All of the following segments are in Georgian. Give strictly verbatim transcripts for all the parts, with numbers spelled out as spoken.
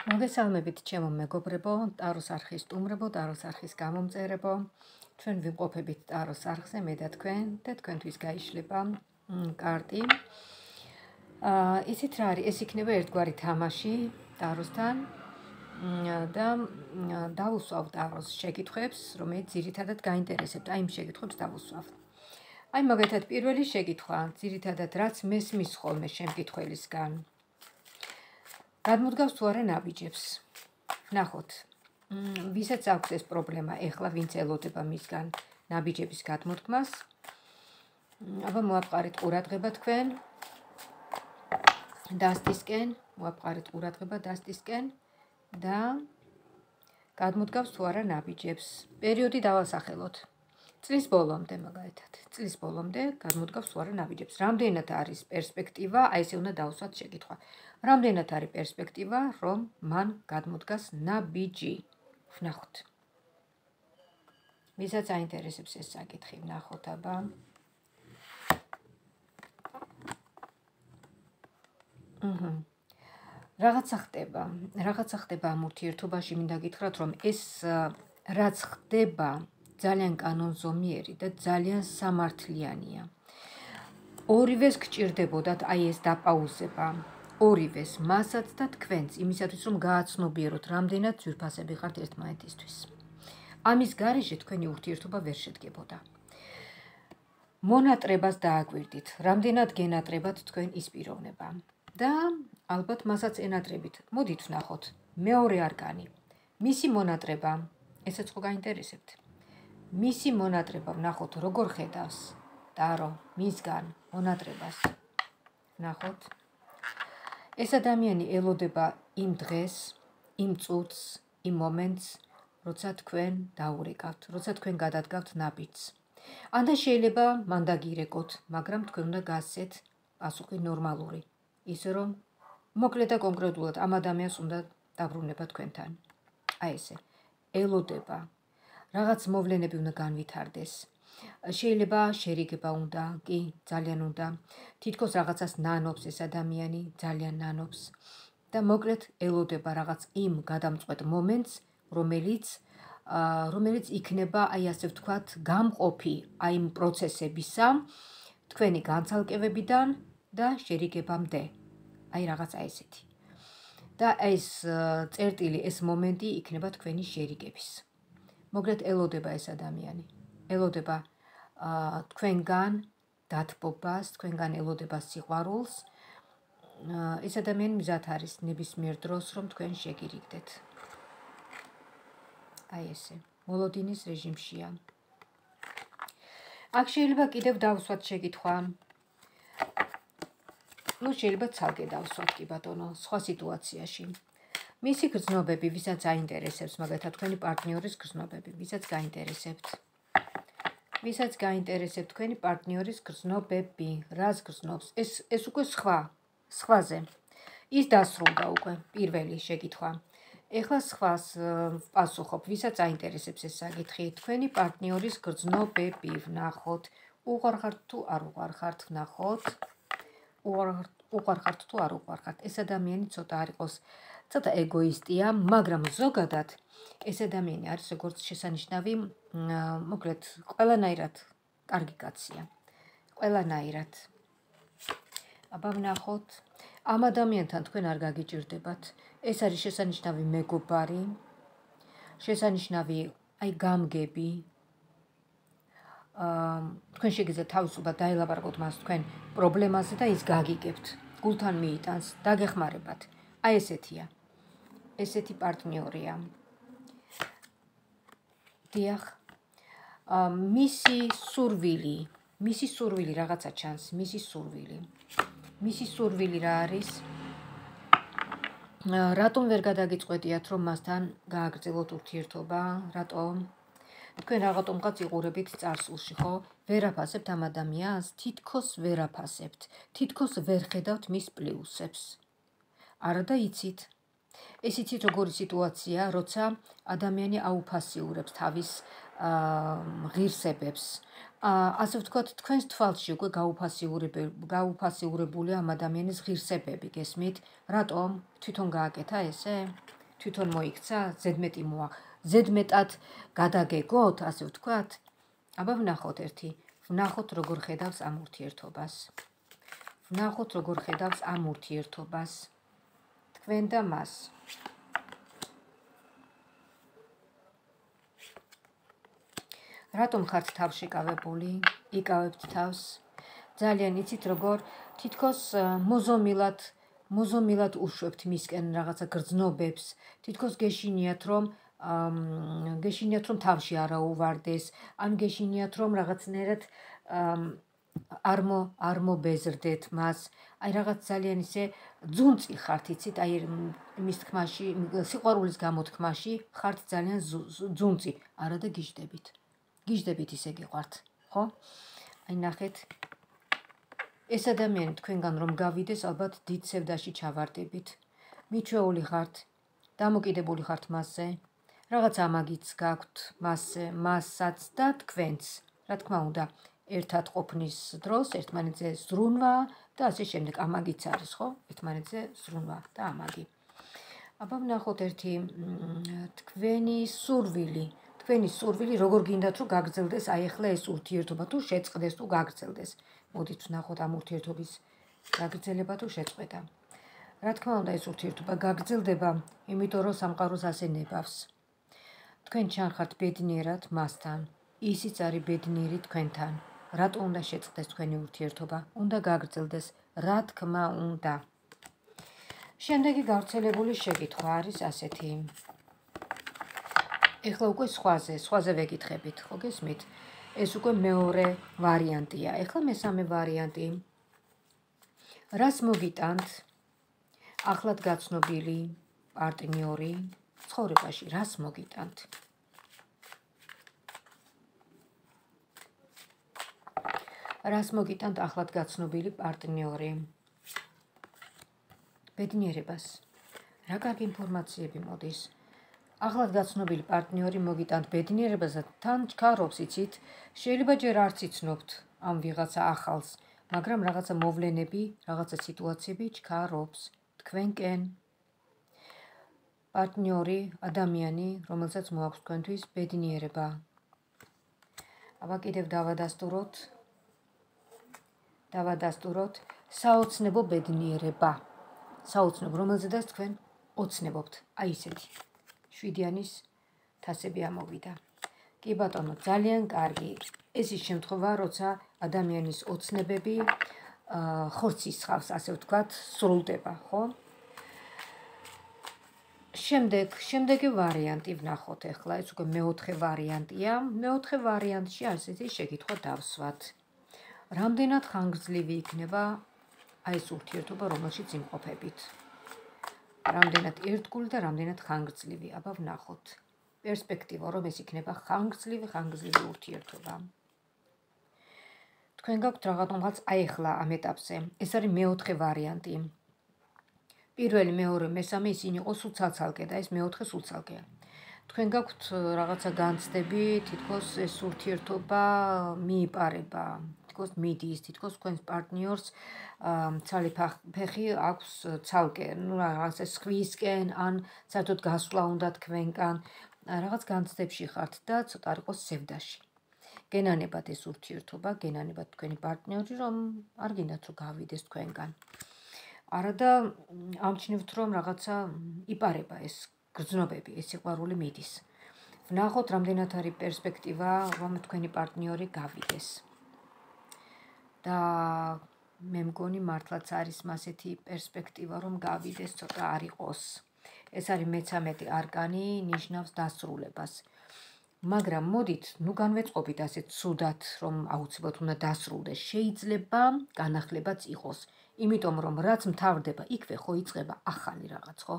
მოგესალმებით ჩემო მეგობრებო, ტაროს არხის სტუმრებო, ტაროს არხის გამომწერებო. ჩვენ ვიმყოფებით ტაროს არხზე, მე და თქვენ და თქვენთვის გაიშლება კარტი. აა ისიც რა არის, ეს იქნება ერთგვარი თამაში ტაროსთან და დავუსვავ ტაროს შეკითხვებს, რომელიც ძირითადად გაინტერესებთ. აი იმ შეკითხვებს დავუსვავ. აი მაგალითად პირველი შეკითხვა, ძირითადად რაც მესმის ხოლმე შემკითხველისგან. გადმოდგავს თუ არა ნაბიჯებს. ნახოთ. ვისაც აქვს ეს პრობლემა, ეხლა ვინც ელოდება მისგან ნაბიჯების გადმოდგმას. აბა მოაყარეთ ყურადღება თქვენ. დასტისკენ, მოაყარეთ ყურადღება დასტისკენ და გადმოდგავს თუ არა ნაბიჯებს. პერიოდი დავასახელოთ. წლის ბოლომდე მაგალითად. წლის ბოლომდე გადმოდგავს თუ არა ნაბიჯებს. რამდენად არის პერსპექტივა, აი ესე უნდა დავუსვათ შეკითხვა. რამდენად არის პერსპექტივა, რომ მან გადმოდგას ნაბიჯი. ვნახოთ. ვისაც აინტერესებს ეს საკითხი, ვნახოთ აბა. აჰა. რაღაცა ხდება, რაღაცა ხდება ამ ურთიერთობაში, მინდა გითხრათ, რომ ეს რაც ხდება, ძალიან კანონზომიერი და ძალიან სამართლიანია. ორივეს გჭირდებოდათ აი ეს დაპაუზება. ორივეს, მასაც და თქვენც, იმისათვის რომ გააცნობიეროთ, რამდენად ძვირფასები ხართ ერთმანეთისთვის. ამის გარეშე თქვენი ურთიერთობა ვერ შედგებოდა. მონატრებას დააკვირდით, რამდენად გენატრებათ თქვენ ის პიროვნება. და ალბათ მასაც ენატრებით. მოდით ვნახოთ. მეორე არკანი. მისი მონატრება, ესაც ხო გაინტერესებთ. მისი მონატრება ვნახოთ, როგორ ხედავს ტარო მისგან მონატრებას. ვნახოთ. ეს ადამიანი ელოდება იმ დღეს, იმ წუთს, იმ მომენტს, როცა თქვენ დაურეკავთ, როცა თქვენ გადადგავთ ნაბიჯს. ანდა შეიძლება მან დაგირეკოთ, მაგრამ თქვენ უნდა გასცეთ პასუხი ნორმალური. ისე რომ მოკლედ და კონკრეტულად ამ ადამიანს უნდა დაბრუნება თქვენთან. აი ესე. ელოდება. რაღაც მოვლენები უნდა განვითარდეს. შეიძლება შერიგება უნდა, კი, ძალიან უნდა. თითქოს რაღაცას ნანობს ეს ადამიანი, ძალიან ნანობს. და მოკლედ ელოდება რაღაც იმ გადამწყვეტ მომენტს, რომელიც რომელიც იქნება, აი ასე ვთქვათ, გამყოფი აი იმ პროცესებისა, თქვენი განცალკევებიდან და შერიგებამდე. აი რაღაცა ესეთი. და ეს წერტილი, ეს მომენტი იქნება თქვენი შერიგების. მოკლედ ელოდება ეს ადამიანი. ელოდება თქვენგან დათბობას, თქვენგან ელოდება სიყვარულს. ეს ადამიანი მზად არის ნებისმიერ დროს, რომ თქვენ შეგირიგდეთ. აი ესე. მოლოდინის რეჟიმშია. აქ შეიძლება კიდევ დავსვათ შეკითხვა. ნუ შეიძლება ცალკე დავსვათ კი ბატონო, სხვა სიტუაციაში. მისი გრძნობები, ვისაც აინტერესებს, მაგალითად თქვენი პარტნიორის გრძნობები, ვისაც გაინტერესებთ. ვისაც გაინტერესებთ თქვენი პარტნიორის გრძნობები, რას გრძნობს? ეს ეს უკვე სხვა, სხვაზე. ის დასრულდა უკვე პირველი შეკითხვა. ეხლა სხვას ვპასუხობ, ვისაც აინტერესებს ეს საკითხი, თქვენი პარტნიორის გრძნობები, ვნახოთ. უყვარ ხართ თუ არ უყვარ ხართ, ვნახოთ. უყვარ ხართ თუ არ უყვარ ხართ. ეს ადამიანი ცოტა არ იყოს, ცოტა ეგოისტია, მაგრამ ზოგადად ეს ადამიანი არის როგორც შესანიშნავი, მოკლედ, ყველანაირად კარგი კაცია. ყველანაირად. აბა ვნახოთ. ამ ადამიანთან თქვენ არ გაგიჭირდებათ. ეს არის შესანიშნავი მეგობარი, შესანიშნავი აი გამგები. თქვენ შეგიძლიათ თავისუფლად დაელაპარაკოთ მას თქვენ პრობლემაზე და ის გაგიგებთ. გულთან მიიტანს, დაგეხმარებათ. აი ესეთია. ესეთი პარტნიორია. დიახ. მისი სურვილი, მისი სურვილი რაღაცა ჩანს, მისი სურვილი. მისი სურვილი რა არის? რატომ ვერ გადაგიწყვეტიათ, რომ მასთან გააგრძელოთ ურთიერთობა? რატომ? თქვენ რაღაცომღაც იყურებით წარსულში, ხო? ვერ აფასებთ ამ ადამიანს, თითქოს ვერ აფასებთ, თითქოს ვერ ხედავთ მის პლუსებს. არა და იცით. ეს იცით როგორი სიტუაცია, როცა ადამიანი აუფასიურებს თავის ღირსებებს. ასე ვთქვათ, თქვენს თვალში უკვე გაუფასიურებულია ამ ადამიანის ღირსებები, გესმით? რატომ? თვითონ გააკეთა ესე? თვითონ მოიქცა, ზედმეტი მოა, ზედმეტად გადაგეგოთ, ასე ვთქვათ. აბა ვნახოთ ერთი, ვნახოთ როგორ ხედავს ამ ურთიერთობას. ვნახოთ როგორ ხედავს ამ ურთიერთობას. თქვენ და მას. რატომ ხართ თავშეკავებული? იკავებთ თავს. ძალიან იცით როგორ თითქოს მოზომილად მოზომილად უშვებთ მისკენ რაღაცა გრძნობებს, თითქოს გეშინიათ რომ გეშინიათ რომ თავში არა უვარდეს, ან გეშინიათ რომ რაღაცნაირად არ მო არ მობეზრდეთ მას. აი რაღაც ძალიან ისე ძუნწი ხართ, იცით, აი მის თქმაში, სიყვარულის გამოთქმაში ხართ ძალიან ძუნწი, არა და გიждდებით. გიждდებით ისე გიყვართ, ხო? აი ნახეთ. ეს ადამიანი თქვენგან რომ გავიდეს, ალბათ დიდ სევდაში ჩავარდებით. მიჩვეული ხართ, დამოკიდებული ხართ მასზე. რაღაც ამაგიც გაქვთ მასზე, მასაც და თქვენც. რა თქმა უნდა, ერთად ყოფნის დროს ერთმანეთზე ზრუნვა და ასე შემდეგ ამაგიც არის, ხო? ერთმანეთზე ზრუნვა და ამაგი. აბა ვნახოთ ერთი თქვენი სურვილი. თქვენი სურვილი როგორ გინდათ რომ გაგრძელდეს აი ახლა ეს ურთიერთობა, თუ შეწყდეს, თუ გაგრძელდეს. მოდით ვნახოთ ამ ურთიერთობის გაგრძელება თუ შეწყვეტა. რა თქმა უნდა, ეს ურთიერთობა გაგრძელდება, იმიტომ რომ სამყაროს ასე ნებავს. თქვენ ჩანხართ ბედნიერად მასთან, ისიც არის ბედნიერი თქვენთან. რატო უნდა შეწყდეს თქვენი ურთიერთობა? უნდა გაგრძელდეს, რა თქმა უნდა. შემდეგი გავრცელებული შეკითხვა არის ასეთი. ეხლა უკვე სხვაზე, სხვაზე ვეკითხებით, ხო გესმით? ეს უკვე მეორე ვარიანტია. ეხლა მესამე ვარიანტი. რას მოგიტანთ ახლად გაცნობილი პარტნიორი ცხოვრებაში? რას მოგიტანთ? რას მოგიტანთ ახლად გაცნობილი პარტნიორი? ბედნიერებას. რა კარგი ინფორმაციები მოდის. ახლად გაცნობილი პარტნიორი მოგიტანთ ბედნიერებას და თან ჩქარობს, იცით, შეიძლება ჯერ არც იცნობთ ამ ვიღაცა ახალს, მაგრამ რაღაცა მოვლენები, რაღაცა სიტუაციები ჩქარობს თქვენკენ. პარტნიორი, ადამიანი, რომელსაც მოაქვს თქვენთვის ბედნიერება. აბა კიდევ დავადასტუროთ. დავადასტუროთ საოცნებო ბედნიერება. საოცნებო, რომელზედაც თქვენ ოცნებობთ. აი ისეთი. შვიდიანის თასები ამოვიდა. კი ბატონო, ძალიან კარგი. ეს ის შემთხვევა, როცა ადამიანის ოცნებები ხორცის ხავს, ასე ვთქვათ, სრულდება, ხო? შემდეგ, შემდეგი ვარიანტი ვნახოთ ახლა, ეს უკვე მეოთხე ვარიანტია. მეოთხე ვარიანტში ასეთი შეკითხვა დავსვათ. რამდენად ხანგრძლივი იქნება აი ეს ურთიერთობა, რომელშიც იმყოფებით? რამდენად ერთგული და რამდენად ხანგრძლივი. აბა ვნახოთ. პერსპექტივა, რომ ეს იქნება ხანგრძლივი, ხანგრძლივი ურთიერთობა. თქვენ გაქვთ რაღაცნაირად აი ახლა ამ ეტაპზე. ეს არის მეოთხე ვარიანტი. პირველი, მეორე, მესამე ისინი იყო სულ ცალ-ცალკე და ეს მეოთხე სულ ცალკეა. თქვენ გაქვთ რაღაცა განცდები, თითქოს ეს ურთიერთობა მიიპარება, თითქოს მიდის, თითქოს თქვენს პარტნიორს ცალი ფეხი აქვს ცალკე, ну რაღაცა სხვისკენ ან საერთოდ გასვლა უნდა თქვენგან, რაღაც განცდებში ხართ და ცოტა არ იყოს სევდაში. გენანებათ ეს ურთიერთობა, გენანებათ თქვენი პარტნიორი, რომ არ გინდათ რომ გავიდეს თქვენგან. არა და ამჩნევთ რომ რაღაცა იპარება ეს გრძნობები, ეს სიყვარული მიდის. ვნახოთ რამდენად არის პერსპექტივა, რომ თქვენი პარტნიორი გავიდეს. და მე მგონი მართლაც არის მასეთი პერსპექტივა, რომ გავიდეს, ცოტა არ იყოს. ეს არის მეცამეტი არკანი, ნიშნავს დასრულებას. მაგრამ მოდით, ნუ განვეწყობით ასე ცუდად, რომ აუცილებლად უნდა დასრულდეს. შეიძლება განახლებაც იყოს. იმიტომ რომ რაც მთავრდება, იქვე ხო იწყება ახალი რაღაც, ხო?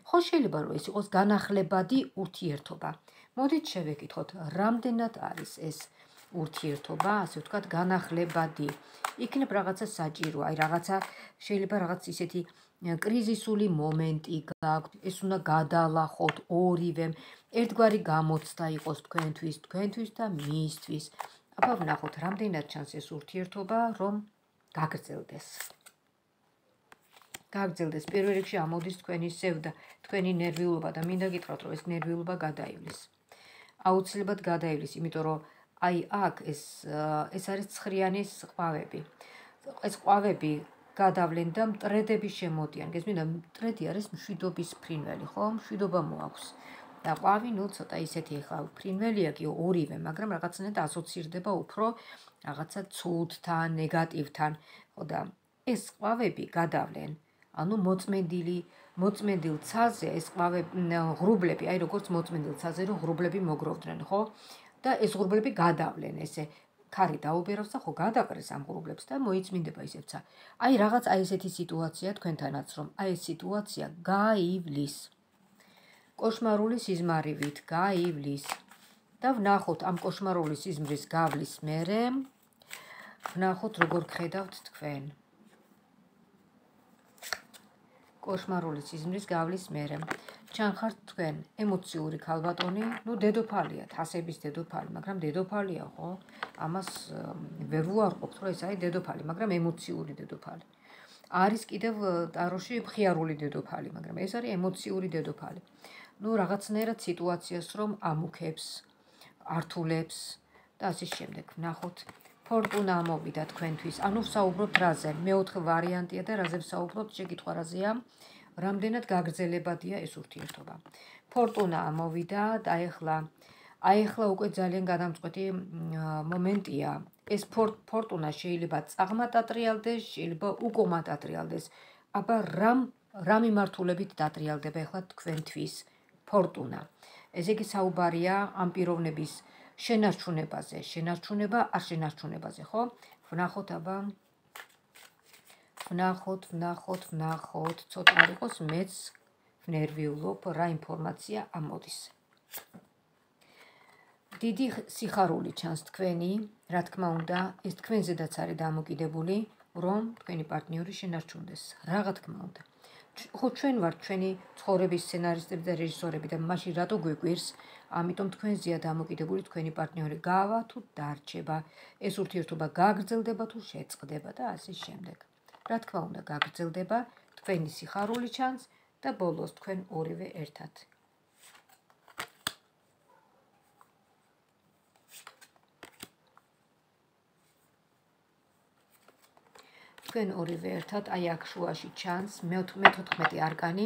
ხო შეიძლება რომ ეს იყოს განახლებადი ურთიერთობა. მოდით შევეკითხოთ, რამდენად არის ეს ურთიერთობა, ასე ვთქვათ, განახლებადი. იქნებ რაღაცა საჭირო, აი რაღაცა შეიძლება რაღაც ისეთი კრიზისული მომენტი გაქვთ, ეს უნდა გადალახოთ ორივემ, ერთგვარი გამოცდა იყოს თქვენთვის, თქვენთვის და მისთვის. აბა ვნახოთ, რამდენად ჩანს ეს ურთიერთობა, რომ გაგრძელდეს. გაგრძელდეს. პირველ რიგში ამოდის თქვენი სევდა, თქვენი ნერვიულობა და მინდა გითხრათ, რომ ეს ნერვიულობა გადაივლის. აუცილებლად გადაივლის, იმიტომ რომ აი აქ ეს ეს არის ცხრიანის ყვავები. ეს ყვავები გადავლენ და მტრედები შემოდიან. გესმით, მტრედი არის მშვიდობის ფრინველი, ხო? მშვიდობა მოაქვს. და ყვავი, ნუ ცოტა ისეთი ახლა ფრინველია კი ორივე, მაგრამ რაღაცნაირად ასოცირდება უფრო რაღაცა ცუდთან, ნეგატივთან, ხო და ეს ყვავები გადავლენ. ანუ მოწმენდილი, მოწმენდილ ცაზე ეს ყვავები, ღრუბლები, აი როგორც მოწმენდილ ცაზე რომ ღრუბლები მოგროვდნენ, ხო? და ეს ღრუბლები გადავლენ, ესე ქარი დაუბერავს და ხო გადაყრეს ამ ღრუბლებს და მოიწმინდება ისევცა. აი რაღაც აი ესეთი სიტუაცია თქვენთანაც, რომ აი ეს სიტუაცია გაივლის. კოშმარული სიზმარივით გაივლის. და ვნახოთ ამ კოშმარული სიზმრის გავლის მერე, ვნახოთ როგორ გხედავთ თქვენ. კოშმარული სიზმრის გავლის მერე. ჩანხართ თქვენ ემოციური ქალბატონი, ნუ დედოფალია, თასების დედოფალი, მაგრამ დედოფალია, ხო? ამას ვერ ვუარყოფთ, რომ ეს არის დედოფალი, მაგრამ ემოციური დედოფალი. არის კიდევ ტაროში მხიარული დედოფალი, მაგრამ ეს არის ემოციური დედოფალი. ნუ რაღაცნაირად სიტუაციას რომ ამუქებს, ართულებს და ასე შემდეგ. ვნახოთ ფორტუნა ამოვიდა თქვენთვის. ანუ ვსაუბრობთ რაზე? მეოთხე ვარიანტია და რაზე ვსაუბრობთ? შეკითხვა რაზეა? რამდენად გაგრძელებადია ეს ურთიერთობა. ფორტუნა ამოვიდა და ეხლა აი ეხლა უკვე ძალიან გადამწყვეტი მომენტია. ეს ფორტუნა შეიძლება წაღმათ ატრიალდეს, შეიძლება უკუმად ატრიალდეს. აბა რამ რა მიმართულებით დატრიალდება ეხლა თქვენთვის ფორტუნა. ესე იგი საუბარია ამ პიროვნების შენარჩუნებაზე, შენარჩუნება არ შენარჩუნებაზე, ხო? ვნახოთ აბა ვნახოთ, ვნახოთ, ვნახოთ, ცოტა არ იყოს მეც ვნერვიულობ, რა ინფორმაცია ამოდის. დიდი სიხარული ჩანს თქვენი, რა თქმა უნდა, ეს თქვენზედაც არის დამოკიდებული, რომ თქვენი პარტნიორი შენარჩუნდეს. რა თქმა უნდა. ხო ჩვენ ვართ ჩვენი ცხოვრების სცენარისტები და რეჟისორები და მაშინ რატო გვიკვირს? ამიტომ თქვენზეა დამოკიდებული თქვენი პარტნიორი გავა თუ დარჩება, ეს ურთიერთობა გაგრძელდება თუ შეწყდება და ასე შემდეგ. რა თქმა უნდა გაგრძელდება, თქვენი სიხარული ჩანს და ბოლოს თქვენ ორივე ერთად. თქვენ ორივე ერთად, აი აქ შუაში ჩანს მეთოთხმეტე არკანი,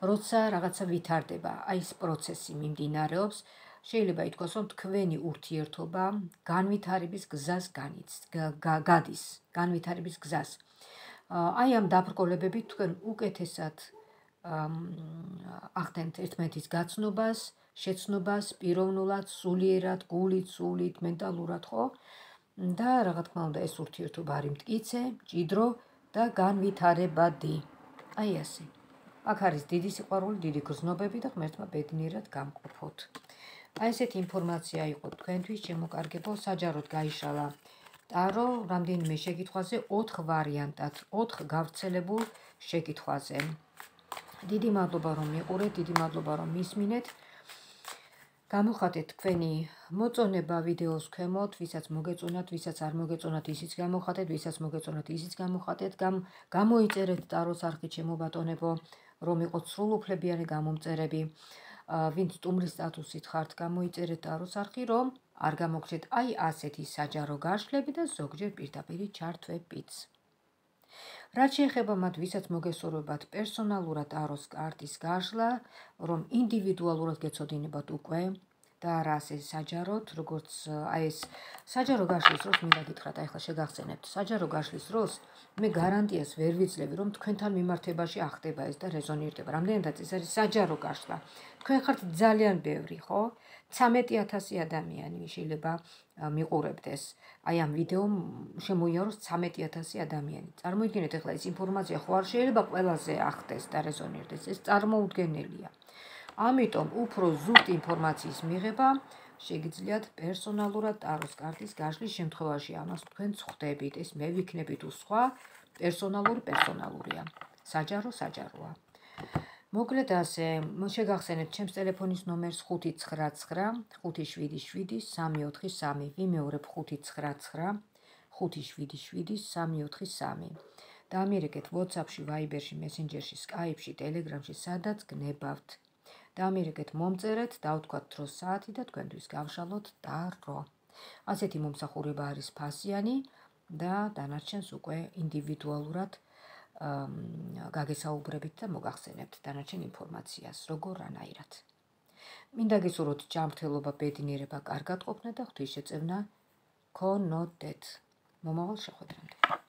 როცა რაღაცა ვითარდება, აი ეს პროცესი მიმდინარეობს, შეიძლება ითქვას, რომ თქვენი ურთიერთობა განვითარების გზას გადის, განვითარების გზას. აი ამ დაბრკოლებებით თქვენ უკეთესად ახდენთ ერთმანეთის გაცნობას, შეცნობას, პიროვნულად, სულიერად, გულით, სულით, მენტალურად, ხო? და რა თქმა უნდა ეს ურთიერთობა არის მტკიცე, მჭიდრო და განვითარებადი. აი ასე. აქ არის დიდი სიყვარული, დიდი გრძნობები და ღმერთმა ბედნიერად გამყოფოთ. აი ესეთი ინფორმაცია იყო თქვენთვის, შემოკარგებო, საჯაროდ გაიშალა ტარო რამდენიმე შეკითხვაზე ოთხ ვარიანტად, ოთხ გავრცელებულ შეკითხვაზე. დიდი მადლობა რომ მიყურეთ, დიდი მადლობა რომ მისმინეთ. გამოხატეთ თქვენი მოწონება ვიდეოს ქვემოთ, ვისაც მოგეწონათ, ვისაც არ მოგეწონათ, ისიც გამოხატეთ, ვისაც მოგეწონათ, ისიც გამოხატეთ. გამოიწერეთ ტაროს არხი ჩემო ბატონებო, რომ იყოთ სრულუფლებიანი გამომწერები. ვინც სტუმრის სტატუსით ხართ, გამოიწერეთ ტაროს არხი, რომ არ გამოგჩეთ აი ასეთი საჯარო გაშლები და ზოგჯერ პირდაპირ ჩართვებიც. რაც შეეხება მათ, ვისაც მოგესურვებათ პერსონალურად ტაროს კარტის გაშლა, რომ ინდივიდუალურად გეცოდინებათ უკვე და არა ასე საჯაროდ, როგორც აი ეს საჯარო გაშლის დროს მინდა გითხრათ, აი ხა შეგახსენებთ, საჯარო გაშლის დროს მე გარანტიას ვერ ვიძლევი, რომ თქვენთან მიმართებაში ახდება ეს და რეზონირდება. რამდენადაც ეს არის საჯარო გაშლა. თქვენ ხართ ძალიან ბევრი, ხო? ცამეტი ათასი ადამიანი შეიძლება მიყურებდეს. აი ამ ვიდეომ შემოიაროს ცამეტი ათასი ადამიანი. წარმოიდგინეთ ახლა ეს ინფორმაცია ხო არ შეიძლება ყველაზე ახდეს და რეზონირდეს. ეს წარმოუდგენელია. ამიტომ უფრო ზუსტ ინფორმაციის მიღება შეგიძლიათ პერსონალურად ტაროს კარტის გაშლის შემთხვევაში ამას თქვენ ხვდებით. ეს მე ვიქნები თუ სხვა პერსონალური პერსონალურია. საჯარო საჯაროა. მოკლედ ასე, შეგახსენებთ ჩემს ტელეფონის ნომერს ხუთი ცხრა ცხრა ხუთი შვიდი შვიდი სამი ოთხი სამი. ვიმეორებ ხუთი ცხრა ცხრა ხუთი შვიდი შვიდი სამი ოთხი სამი. დაამიერეკეთ WhatsApp-ში, Viber-ში, Messenger-ში, Skype-ში, Telegram-ში, სადაც გნებავთ. დაამიერეკეთ მომწერეთ, დავთქვათ დროს საათი და თქვენთვის გავშალოთ და რო. ასეთი მომსახურება არის ფასიანი და დანარჩენს უკვე ინდივიდუალურად გაგესაუბრებით და მოგახსენებთ დანარჩენ ინფორმაციას, როგორ რანაირად. მინდა გესურვოთ ჯანმრთელობა, ბედნიერება, კარგად ყოფნა და ღვთისშეწევნა გქონოდეთ. მომავალ შეხვედრამდე.